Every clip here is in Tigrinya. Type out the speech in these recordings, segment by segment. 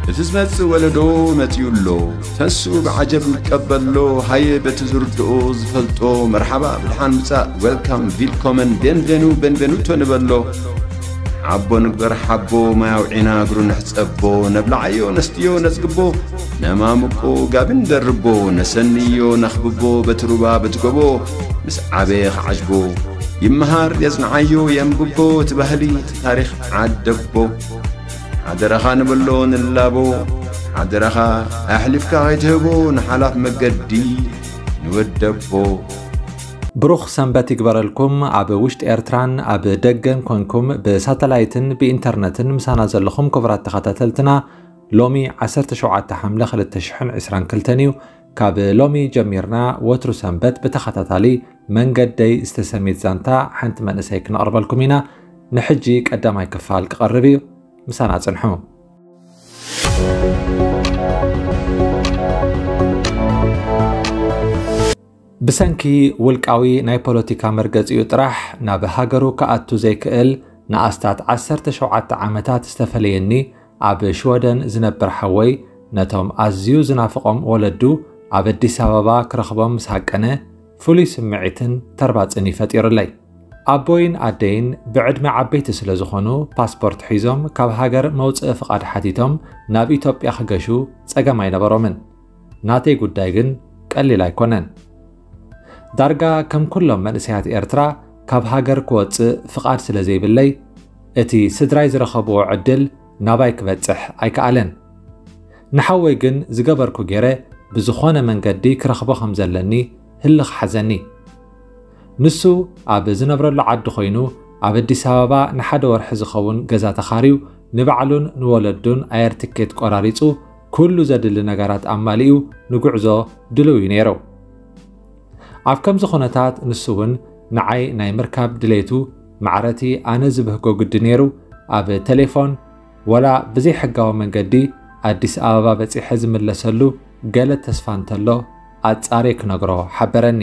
እቲ ዝመጽእ ወለዶ መጺኡ ኣሎ። ተስኡ ብዓጀብ ይቀበሎ። ሃየ በቲ ዝርድኦ ዝፈልጦ መርሓባ ብድሓን ምጻእ፣ ዌልካም፣ ቪልኮመን፣ ቤንቬኑ፣ ቤንቬኑቶ ንበሎ። ሓቦ ንግበር ሓቦ፣ ማይ ኣውዒና እግሩ ንሕጸቦ። ነብልዓዮ ነስትዮ ነጽግቦ፣ ነማምቆ ጋቢ ንደርቦ። ነሰንዮ ነኽብቦ በቲ ሩባ በቲ ጎቦ። ምስ ዓበየ ክዓጅቦ ይመሃር የጽንዓዮ የንብቦ። እቲ ባህሊ እቲ ታሪኽ ዓደቦ። ሓደራኻ ንበሎ ንላቦ። ሓደራኻ ኣሕሊፍካ ከይትህቦ ንሓላፍ መገዲ ንወደቦ። ብሩኽ ሰንበት ይግበረልኩም። ኣብ ውሽጢ ኤርትራን ኣብ ደገን ኮንኩም ብሳተላይትን ብኢንተርነትን ምሳና ዘለኹም ክቡራት ተኸታተልትና፣ ሎሚ ዓሰርተ ሸውዓተ ሓምለ ክልተ ሽሕን ዕስራን ክልተን እዩ። ካብ ሎሚ ጀሚርና ወትሩ ሰንበት ብተኸታታሊ መንገደይ ዝተሰምየት ዛንታ ሓንቲ መንእሰይ ክነቕርበልኩም ኢና። ንሕጂ ቀዳማይ ክፋል ክቐርብ እዩ። ምሳና ጽንሑ። ብሰንኪ ውልቃዊ ናይ ፖለቲካ መርገጺኡ ጥራሕ ናብ ሃገሩ ክኣቱ ዘይክእል ንኣስታት ዓሰርተ ሸውዓተ ዓመታት ዝተፈለየኒ ኣብ ሽወደን ዝነብር ሓወይ ነቶም ኣዝዩ ዝናፍቖም ወለዱ ኣብ ኣዲስ ኣበባ ክረኽቦም ምስ ሃቀነ ፍሉይ ስምዒትን ተርባጽን እዩ ፈጢሩለይ። ኣቦይን ኣደይን ብዕድመ ዓበይቲ ስለ ዝኾኑ ፓስፖርት ሒዞም ካብ ሃገር መውጽኢ ፍቓድ ሓቲቶም ናብ ኢትዮጵያ ክገሹ ጸገም ኣይነበሮምን። ናተይ ጉዳይ ግን ቀሊል ኣይኮነን። ዳርጋ ከም ኩሎም መንእሰያት ኤርትራ ካብ ሃገር ክወጽእ ፍቓድ ስለ ዘይብለይ እቲ ስድራይ ዝረኸብዎ ዕድል ናባይ ክበጽሕ ኣይከኣለን። ንሓወይ ግን ዝገበርኩ ገይረ ብዝኾነ መንገዲ ክረኽቦ ከም ዘለኒ ህልኽ ሓዘኒ። ንሱ ኣብ ዝነብረሉ ዓዲ ኮይኑ ኣብ ኣዲስ ኣበባ ንሓደ ወርሒ ዝኸውን ገዛ ተኻርዩ ንባዕሉን ንወለዱን ኣየር ትኬት ቆራሪጹ ኩሉ ዘድሊ ነገራት ኣማሊኡ ንጉዕዞ ድልው እዩ ነይሩ። ኣብ ከምዚ ኩነታት ንሱ እውን ንዓይ ናይ ምርካብ ድሌቱ ማዕረቲ ኣነ ዝብህጎ ግዲ ነይሩ ኣብ ቴሌፎን ወላ ብዘይሕጋዊ መንገዲ ኣዲስ ኣበባ በጺሐ ዝምለሰሉ ገለ ተስፋ እንተሎ ኣጻርየ ክነግሮ ሓበረኒ።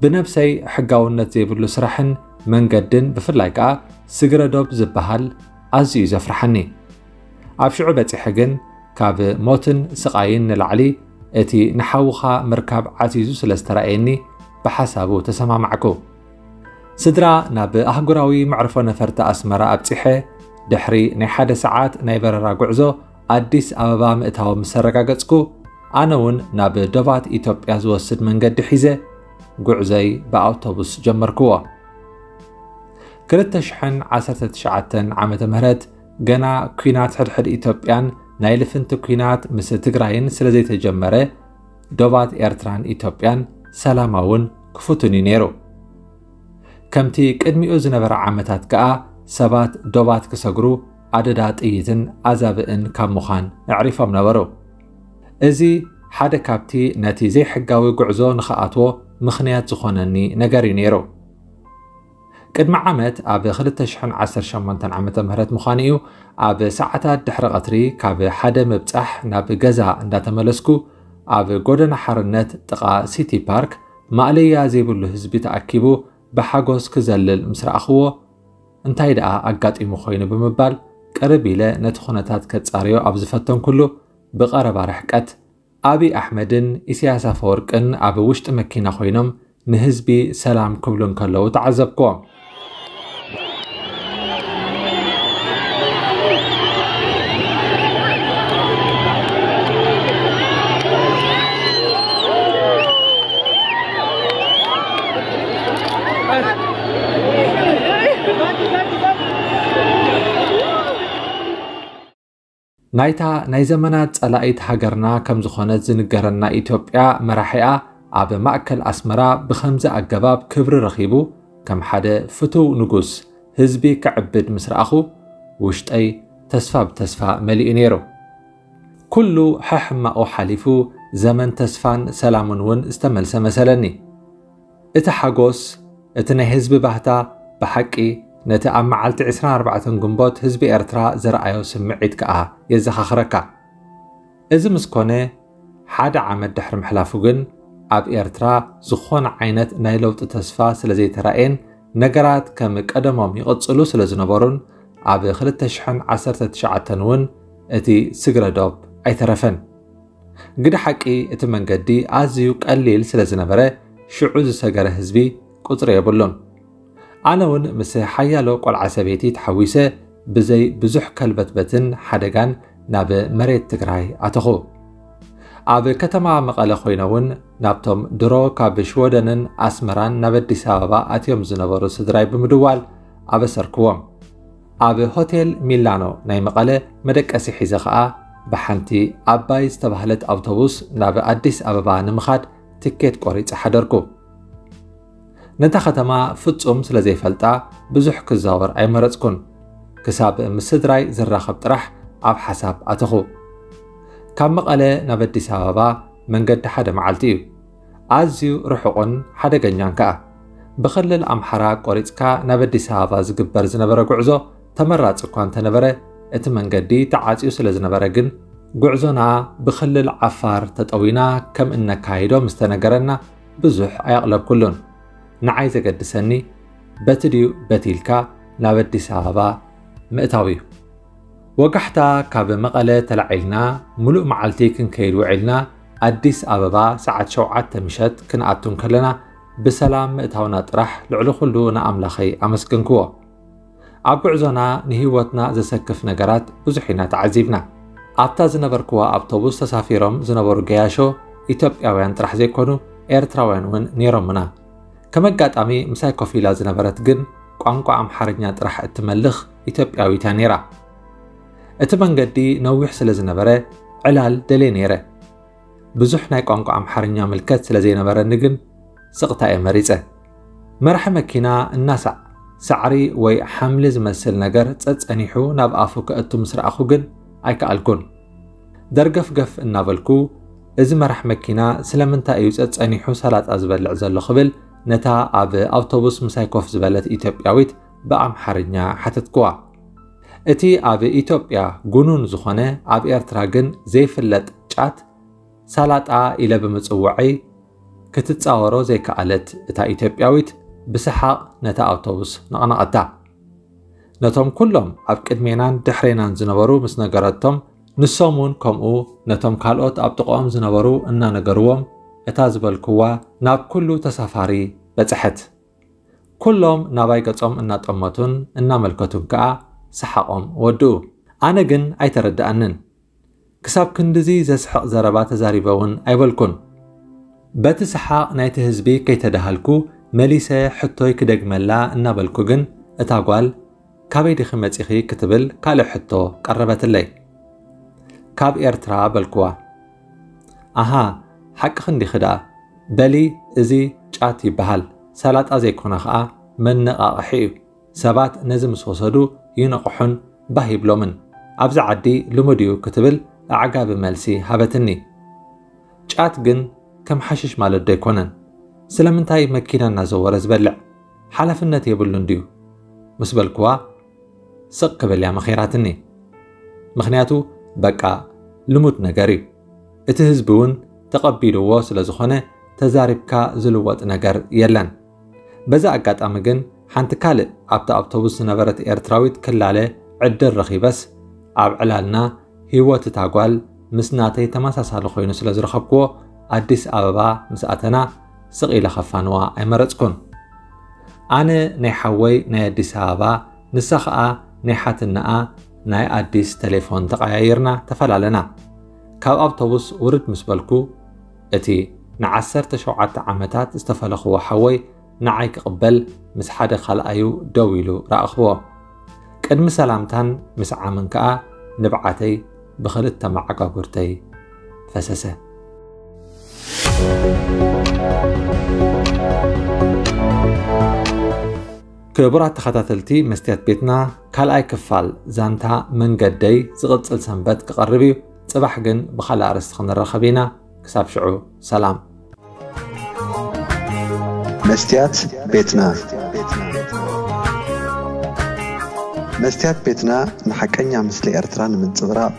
ብነብሰይ ሕጋውነት ዘይብሉ ስራሕን መንገድን ብፍላይ ከኣ ስግረ ዶብ ዝበሃል ኣዝዩ እዩ ዘፍርሓኒ። ኣብ ሽዑ በጺሐ ግን ካብ ሞትን ስቓይን ንላዕሊ እቲ ንሓውኻ ምርካብ ዓዚዙ ስለ ዝተራእየኒ ብሓሳቡ ተሰማማዕኩ። ስድራ ናብ ኣህጉራዊ መዕርፎ ነፈርቲ ኣስመራ ኣብጺሐ ድሕሪ ናይ ሓደ ሰዓት ናይ በረራ ጉዕዞ ኣዲስ ኣበባ ምእታዎም ምስ ኣረጋገጽኩ ኣነ እውን ናብ ዶባት ኢትዮጵያ ዝወስድ መንገዲ ሒዘ ጉዕዞይ ብኣውቶቡስ ጀመርክዎ። ክልተ ሽሕን ዓሰርተ ትሽዓተን ዓመተ ምህረት ገና ኲናት ሕድሕድ ኢትዮጵያን ናይ ልፍንቲ ኲናት ምስ ትግራይን ስለ ዘይተጀመረ ዶባት ኤርትራን ኢትዮጵያን ሰላማውን ክፉትን እዩ ነይሩ። ከምቲ ቅድሚኡ ዝነበረ ዓመታት ከኣ ሰባት ዶባት ክሰግሩ ኣደዳ ጥይትን ኣዛብእን ካብ ምዃን ኣዕሪፎም ነበሩ። እዚ ሓደ ካብቲ ነቲ ዘይሕጋዊ ጉዕዞ ንኽኣትዎ ምኽንያት ዝኾነኒ ነገር እዩ ነይሩ። ቅድሚ ዓመት ኣብ ክልተ ሽሕን ዓሰርተ ሸሞንተን ዓመተ ምህረት ምዃኑ እዩ ኣብ ሰዓታት ድሕሪ ቐትሪ ካብ ሓደ ምብጻሕ ናብ ገዛ እንዳተመለስኩ ኣብ ጎደና ሓርነት ጥቓ ሲቲ ፓርክ ማእለያ ዘይብሉ ህዝቢ ተኣኪቡ ብሓጎስ ክዘልል ምስ ረኣኽዎ እንታይ ደኣ ኣጋጢሙ ኮይኑ ብምባል ቅርብ ኢለ ነቲ ኩነታት ከጻርዮ ኣብ ዝፈተንኩሉ ብቐረባ ርሕቀት ኣብይ ኣሕመድን ኢሳያስ ኣፈወርቅን ኣብ ውሽጢ መኪና ኮይኖም ንህዝቢ ሰላም ክብሉ እንከለዉ ተዓዘብክዎም። ናይታ ናይ ዘመናት ጸላኢት ሃገርና ከም ዝኾነት ዝንገረና ኢትዮጵያ መራሒኣ ኣብ ማእከል ኣስመራ ብኸምዚ ኣገባብ ክብሪ ረኺቡ ከም ሓደ ፍቱው ንጉስ ህዝቢ ክዕብድ ምስ ረኣኹ ውሽጠይ ተስፋ ብተስፋ መሊኡ ነይሩ። ኩሉ ሕሕማቑ ሓሊፉ ዘመን ተስፋን ሰላምን እውን ዝተመልሰ መሰለኒ። እቲ ሓጎስ፣ እቲ ናይ ህዝቢ ባህታ ብሓቂ ነቲ ኣብ መዓልቲ ዕስራን ኣርባዕተን ግንቦት ህዝቢ ኤርትራ ዘርኣዮ ስምዒት ከኣ የዘኻኽረካ። እዚ ምስ ኮነ ሓደ ዓመት ድሕሪ ምሕላፉ ግን ኣብ ኤርትራ ዝኾነ ዓይነት ናይ ለውጢ ተስፋ ስለ ዘይተራእየን ነገራት ከም ቀደሞም ይቕጽሉ ስለ ዝነበሩን ኣብ ክልተ ሽሕን ዓሰርተ ትሽዓተን እውን እቲ ስግረ ዶብ ኣይተረፈን። ግደ ሓቂ እቲ መንገዲ ኣዝዩ ቀሊል ስለ ዝነበረ ሽዑ ዝሰገረ ህዝቢ ቁጽሪ የብሉን። ኣነ እውን ምስ ሓያሎ ቆልዓ ሰበይቲ ተሓዊሰ ብዘይ ብዙሕ ከልበትበትን ሓደጋን ናብ መሬት ትግራይ ኣተኹ። ኣብ ከተማ መቐለ ኮይነ እውን ናብቶም ድሮ ካብ ሽወደንን ኣስመራን ናብ ኣዲስ ኣበባ ኣትዮም ዝነበሩ ስድራይ ብምድዋል ኣበሰርክዎም። ኣብ ሆቴል ሚላኖ ናይ መቐለ መደቀሲ ሒዘ ኸኣ ብሓንቲ ኣባይ ዝተባህለት ኣውቶቡስ ናብ ኣዲስ ኣበባ ንምኻድ ትኬት ቆሪጸ ሓደርኩ። ነታ ከተማ ፍጹም ስለ ዘይፈልጣ ብዙሕ ክዛወር ኣይመረጽኩን። ክሳብ ምስ ስድራይ ዝራኸብ ጥራሕ ኣብ ሓሳብ ኣተኹ። ካብ መቐለ ናብ ኣዲስ ኣበባ መንገዲ ሓደ መዓልቲ እዩ። ኣዝዩ ርሑቕን ሓደገኛን ከኣ። ብክልል ኣምሓራ ቆሪጽካ ናብ ኣዲስ ኣበባ ዝግበር ዝነበረ ጉዕዞ ተመራጺ እኳ እንተነበረ፣ እቲ መንገዲ ተዓጽዩ ስለ ዝነበረ ግን፣ ጉዕዞና ብክልል ዓፋር ተጠዊና ከም እነካይዶ ምስ ተነገረና ብዙሕ ኣየቕለብኩሉን። ንዓይ ዘገድሰኒ በቲ ድዩ በቲ ኢልካ ናብ ኣዲስ ኣበባ ምእታው እዩ። ወጋሕታ ካብ መቐለ ተላዒልና፣ ምሉእ መዓልቲ ክንከይድ ውዒልና፣ ኣዲስ ኣበባ ሰዓት ሸውዓተ ምሸት ክንኣቱ እንከለና፣ ብሰላም ምእታውና ጥራሕ ልዕሊ ኩሉ ንኣምላኸይ ኣመስገንክዎ። ኣብ ጉዕዞና ንህይወትና ዘሰክፍ ነገራት ብዙሕ ኢና ተዓዚብና። ኣብታ ዝነበርክዋ ኣውቶቡስ ተሳፊሮም ዝነበሩ ገያሾ ኢትዮጵያውያን ጥራሕ ዘይኮኑ፣ ኤርትራውያን እውን ነይሮምና። ከም ኣጋጣሚ ምሳይ ኮፍ ኢላ ዝነበረት ግን ቋንቋ ኣምሓርኛ ጥራሕ እትመልኽ ኢትዮጵያዊት እያ ነይራ። እቲ መንገዲ ነዊሕ ስለ ዝነበረ ዕላል ደልየ ነይረ። ብዙሕ ናይ ቋንቋ ኣምሓርኛ ምልከት ስለ ዘይነበረኒ ግን ስቕታ እየ መሪጸ። መራሒ መኪና እናሳዕ ሳዕሪ ወይ ሓምሊ ዝመስል ነገር ጸጸኒሑ ናብ ኣፉ ከእቱ ምስ ረኣኹ ግን ኣይከኣልኩን። ደርገፍገፍ እናበልኩ፣ "እዚ መራሕ መኪና ስለምንታይ እዩ ጸጸኒሑ ሰላጣ ዝበልዕ ዘሎ?" ክብል ነታ ኣብ ኣውቶቡስ ምሳይ ኮፍ ዝበለት ኢትዮጵያዊት ብኣምሓርኛ ሓተትክዋ። እቲ ኣብ ኢትዮጵያ ጉኑን ዝኾነ ኣብ ኤርትራ ግን ዘይፍለጥ ጫት ሳላጣ ኢለ ብምጽውዐይ ክትጻወሮ ዘይከኣለት እታ ኢትዮጵያዊት ብሰሓቕ ነታ ኣውቶቡስ ነቕነቐታ። ነቶም ኩሎም ኣብ ቅድሜናን ድሕሬናን ዝነበሩ ምስ ነገረቶም፣ ንሶም እውን ከምኡ ነቶም ካልኦት ኣብ ጥቕኦም ዝነበሩ እናነገርዎም፣ እታ ዝበልክዋ ናብ ኩሉ ተሳፋሪ በጽሐት። ኩሎም ናባይ ገጾም እናጠመቱን እናመልከቱን ከኣ ሰሓቖም ወድኡ። ኣነ ግን ኣይተረድኣንን። ክሳብ ክንድዚ ዘስሕቕ ዘረባ ተዛሪበ እውን ኣይበልኩን። በቲ ሰሓቕ ናይቲ ህዝቢ ከይተደሃልኩ፣ መሊሰ ሕቶይ ክደግመላ እናበልኩ ግን፣ እታ ጓል፣ "ካበይ ዲኺ መጺኺ?" ክትብል ካልእ ሕቶ ቀረበትለይ። "ካብ ኤርትራ" በልኩዋ። "ኣሃ፣ ሓቅኺ እንዲኺ ደኣ። በሊ፣ እዚ ጫት ይበሃል። ሰላጣ ዘይኮነ ኸኣ መነቓቕሒ እዩ። ሰባት ነዚ ምስ ወሰዱ ይነቕሑን ባህ ይብሎምን። ኣብዚ ዓዲ ልሙድ እዩ" ክትብል ኣዕጋቢ መልሲ ሃበትኒ። ጫት ግን ከም ሓሽሽ ማለት ዶ ኣይኮነን? ስለምንታይ መኪና እናዘወረ ዝበልዕ? ሓላፍነት የብሉን ድዩ? ምስ በልክዋ፣ ስቕ ክብል እያ መኺራትኒ። ምኽንያቱ፣ በቃ፣ ልሙድ ነገር እዩ። እቲ ህዝቢ እውን ተቐቢልዎ ስለ ዝኾነ፣ ተዛሪብካ ዝልወጥ ነገር የለን። በዚ ኣጋጣሚ ግን፣ ሓንቲ ካልእ ኣብታ ኣውቶቡስ ዝነበረት ኤርትራዊት ክላለ ዕድል ረኺበስ፣ ኣብ ዕላልና ህይወት እታ ጓል ምስ ናተይ ተመሳሳሊ ኮይኑ ስለ ዝረኸብክዎ፣ ኣዲስ ኣበባ ምስ ኣተና ስቕ ኢለ ከፋንዋ ኣይመረጽኩን። ኣነ ናይ ሓወይ ናይ ኣዲስ ኣበባ፣ ንሳ ኸኣ ናይ ሓትነኣ ናይ ኣዲስ ቴሌፎን ተቐያይርና ተፈላለና። ካብ ኣውቶቡስ ውርድ ምስ በልኩ፣ እቲ ንዓሰርተ ሸውዓተ ዓመታት ዝተፈለኽዎ ሓወይ ንዓይ ክቕበል ምስ ሓደ ካልኣዩ ደው ኢሉ ረኣኽዎ። ቅድሚ ሰላምታን ምስዓምን ከኣ ንብዓተይ ብኽልተ መዓጋጉርተይ ፈሰሰ። ክቡራት ተኸታተልቲ መስትያት ቤትና፣ ካልኣይ ክፋል ዛንታ መንገደይ ዝቕጽል ሰንበት ክቐርብ እዩ። ጽባሕ ግን ብኻልእ ኣርእስቲ ክንራኸብ ኢና። ክሳብ ሽዑ ሰላም። መስትያት ቤትና። መስትያት ቤትና ንሓቀኛ ምስሊ ኤርትራ ንምንጽብራቕ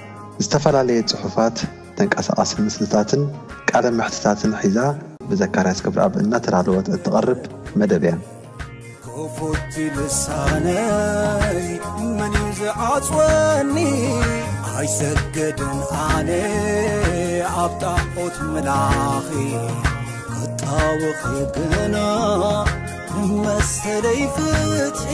ዝተፈላለየ ጽሑፋት፣ ተንቀሳቓሲ ምስልታትን ቃለ መሕትታትን ሒዛ ብዘካርያስ ገብረኣብ እናተዳለወት እትቐርብ መደብ እያ። ክፉት ልሳነይ መን እዩ ዝዓጽወኒ? ኣይሰግድን ኣነ ኣብ ጣዖት ምላኺ ክጣወኺ ግና ንመሰለይ ፍትሒ